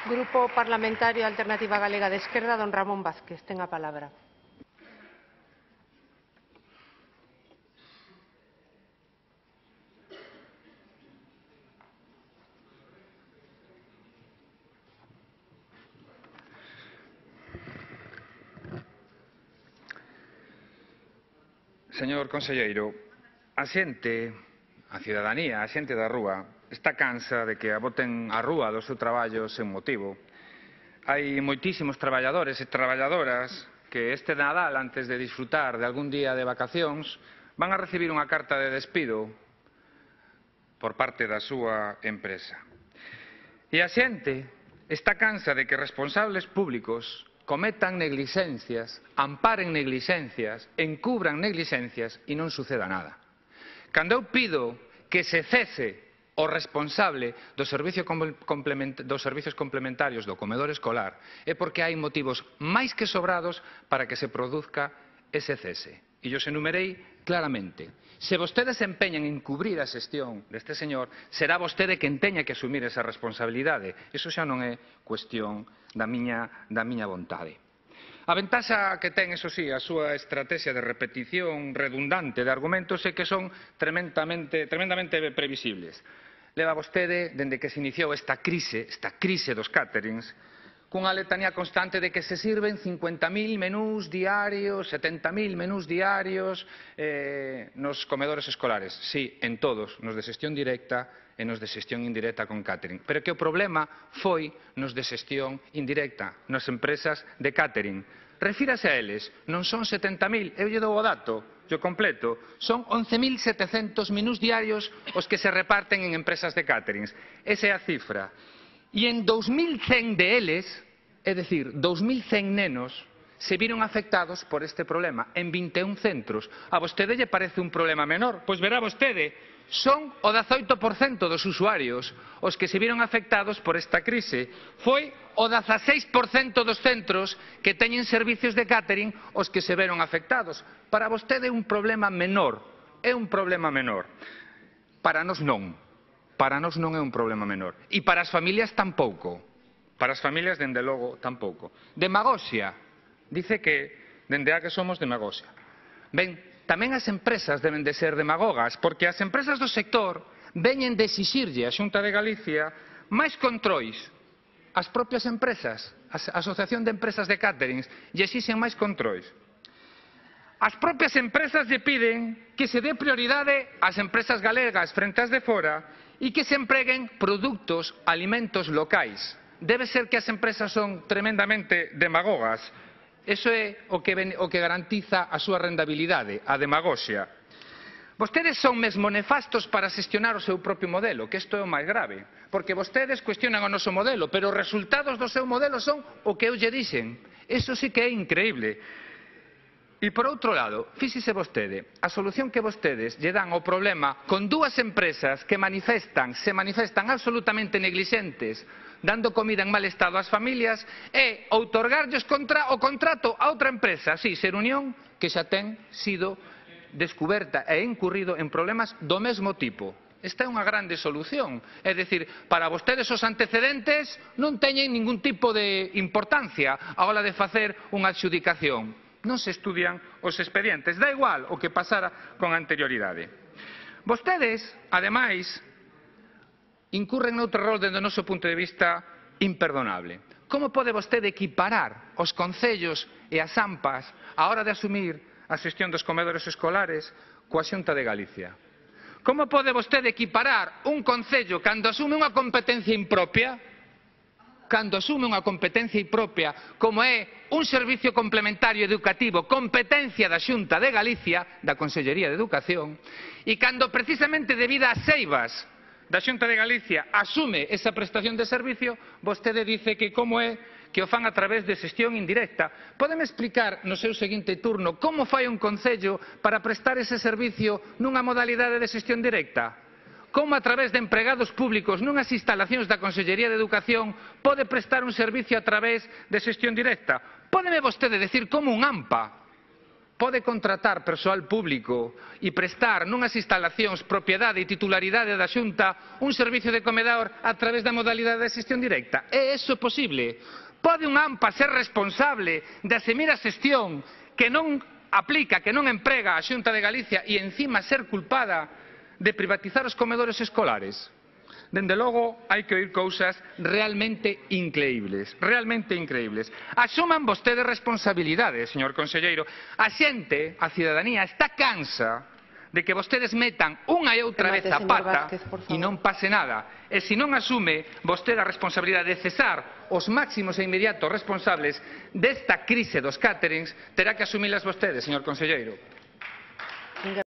Grupo Parlamentario Alternativa Galega de Esquerda, don Ramón Vázquez, ten a palabra. Señor conselleiro, a xente, a cidadanía, a xente da rúa, está cansa de que a boten á rúa do seu traballo sen motivo. Hai moitísimos traballadores e traballadoras que este Nadal, antes de disfrutar de algún día de vacacións, van a recibir unha carta de despido por parte da súa empresa. E a xente está cansa de que responsables públicos cometan negligencias, amparen negligencias, encubran negligencias e non suceda nada. Cando eu pido que se cese o responsable dos servicios complementarios do comedor escolar é porque hai motivos máis que sobrados para que se produzca ese cese. E os enumerei claramente. Se vostedes se empeñan en cubrir a xestión deste señor, será vostede quen teña que asumir esa responsabilidade. Iso xa non é cuestión da miña vontade. A ventaxa que ten, eso sí, a súa estrategia de repetición redundante de argumentos é que son tremendamente previsibles. Leva vostede, dende que se iniciou esta crise dos caterings, cunha letanía constante de que se sirven 50.000 menús diarios, 70.000 menús diarios nos comedores escolares. Sí, en todos, nos de xestión directa e nos de xestión indirecta con catering. Pero que o problema foi nos de xestión indirecta, nas empresas de catering. Refírase a eles, non son 70.000, eu lle dou o dato, yo completo, son 11.700 menús diarios os que se reparten en empresas de caterings. Esa é a cifra. E en 2.100 de eles, é dicir, 2.100 nenos, se viron afectados por este problema en 21 centros. A vostede lle parece un problema menor? Pois verá vostede, son o 18% dos usuarios os que se viron afectados por esta crise. Foi o 16% dos centros que teñen servicios de catering os que se veron afectados. Para vostede é un problema menor. É un problema menor. Para nós non. Para nós non é un problema menor. E para as familias tampouco. Para as familias, dende logo, tampouco. Demagoxia. Dice que, dende a que somos, demagoxia. Ben, tamén as empresas deben de ser demagogas, porque as empresas do sector veñen de exixirlle a Xunta de Galicia máis controis. As propias empresas, a Asociación de Empresas de Caterings, lle exixen máis controis. As propias empresas lle piden que se dé prioridade ás empresas galegas frente ás de fora e que se empreguen produtos, alimentos locais. Debe ser que as empresas son tremendamente demagogas. Iso é o que garantiza a súa rentabilidade, a demagoxia. Vostedes son mesmo nefastos para xestionar o seu propio modelo, que isto é o máis grave, porque vostedes cuestionan o noso modelo, pero os resultados do seu modelo son o que eu lle dixen. Iso sí que é increíble. E por outro lado, fíxese vostede, a solución que vostedes lle dan ao problema con dúas empresas que se manifestan absolutamente neglixentes, dando comida en mal estado ás familias, é outorgarlles o contrato a outra empresa, sí, Ser Unión, que xa ten sido descuberta e incurrido en problemas do mesmo tipo. Esta é unha grande solución. É dicir, para vostedes os antecedentes non teñen ningún tipo de importancia a hora de facer unha adxudicación. Non se estudian os expedientes. Da igual o que pasara con anterioridade. Vostedes, ademais, incurren noutro error dende o noso punto de vista imperdonable. Como pode vostede equiparar os concellos e as AMPAs á hora de asumir a xestión dos comedores escolares coa Xunta de Galicia? Como pode vostede equiparar un concello cando asume unha competencia impropia, como é un servicio complementario educativo, competencia da Xunta de Galicia, da Consellería de Educación, e cando precisamente debido ás eivas da Xunta de Galicia asume esa prestación de servicio, vostede dice que como é que o fan a través de xestión indirecta. Pódeme explicar no seu seguinte turno como fai un concello para prestar ese servicio nunha modalidade de xestión directa? Como a través de empregados públicos nunhas instalacións da Consellería de Educación pode prestar un servicio a través de xestión directa? Pódeme vostede decir como un AMPA pode contratar persoal público e prestar nunhas instalacións propiedade e titularidade da Xunta un servicio de comedor a través da modalidade de xestión directa? É iso posible? Pode un AMPA ser responsable de asumir a xestión que non aplica, que non emprega a Xunta de Galicia e encima ser culpada de privatizar os comedores escolares? Dende logo, hai que oír cousas realmente increíbles, realmente increíbles. Asuman vostedes responsabilidades, señor conselleiro. A xente, a cidadanía, está cansa de que vostedes metan unha e outra vez a pata e non pase nada. E se non asume vostede a responsabilidade de cesar os máximos e inmediatos responsables desta crise dos cáterings, terá que asumilas vostedes, señor conselleiro.